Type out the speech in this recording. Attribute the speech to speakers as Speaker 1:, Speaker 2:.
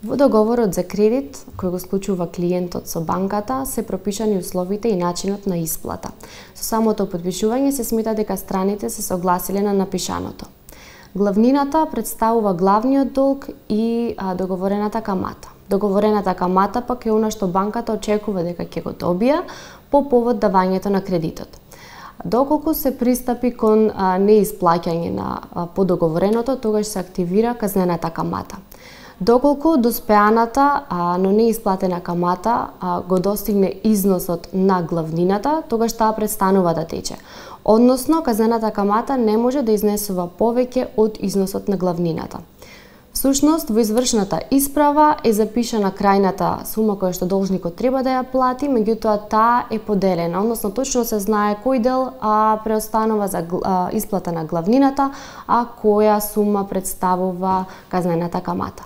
Speaker 1: Во договорот за кредит, кој го склучува клиентот со банката, се пропишани условите и начинот на исплата. Со самото подпишување се смета дека страните се согласиле на напишаното. Главнината представува главниот долг и договорената камата. Договорената камата пак е она што банката очекува дека ќе го добија по повод давањето на кредитот. Доколку се пристапи кон неисплаќање на подоговореното, тогаш се активира казнената камата. Доколку доспеаната, но неисплатена камата го достигне износот на главнината, тогаш таа престанува да тече. Односно, казнената камата не може да изнесува повеќе од износот на главнината. Всушност, во извршната исправа е запишана крајната сума која што должникот треба да ја плати, меѓутоа таа е поделена, односно точно се знае кој дел преостанува за исплата на главнината, а која сума представува казнената камата.